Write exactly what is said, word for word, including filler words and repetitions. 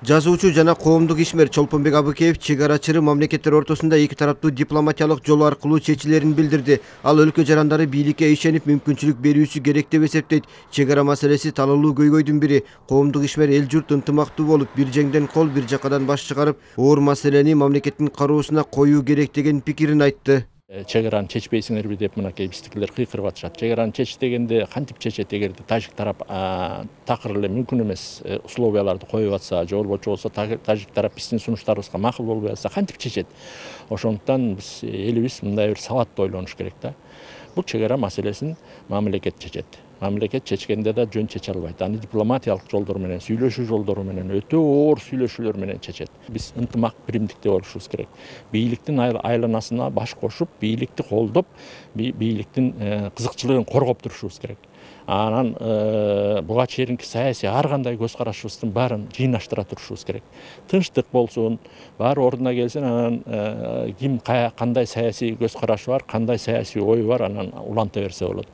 Жазуучу жана коомдук ишмер Чолпонбек Абыкеев чек ара чыры мамлекеттер ортосунда эки тараптуу дипломатиялык жол аркылуу чечилерин билдирди. Ал өлкө жарандары бийликке ишенип мүмкүнчүлүк берүүсү керек деп эсептейт. Чек ара маселеси талаалуу көйгөйдүн бири. Коомдук ишмер эл журт ынтымактуу болуп, бир жеңден кол, бир жакадан баш чыгарып, оор маселени мамлекеттин кароосуна коюу керек деген пикирин айтты. Чек араны чечпейсиңерби деп мынакей биздикилер кыйкырып атышат. Чек араны чеч дегенде кантип чечет, эгерде тажик тарап такыр эле мүмкүн эмес условияларды коюп атса, же болбочу болсо тажик тарап биздин сунуштарыбызга макул болбой атса кантип чечет? Ошондуктан биз элибиз мындай бир сабаттуу ойлонуш керек да. Бул чек ара маселесин мамлекет чечет. Мамлекет чечкенде да жөн чече албайт. Аны дипломатиялык жолдор менен, сүйлөшүү жолдору менен, өтө оор сүйлөшүүлөр менен чечет. Биз ынтымак, биримдикте болушубуз керек. Бийликтин айланасына баш кошуп, бийликти колдоп, бийликтин кызыкчылыгын коргоп турушубуз керек. Анан буга чейинки саясий ар кандай көз карашыбыздын баарын жыйнаштыра турушубуз керек. Тынчтык болсун, баары ордуна келсин, анан ким кандай саясий көз карашы бар, кандай саясий ою бар, анан уланта берсе болот.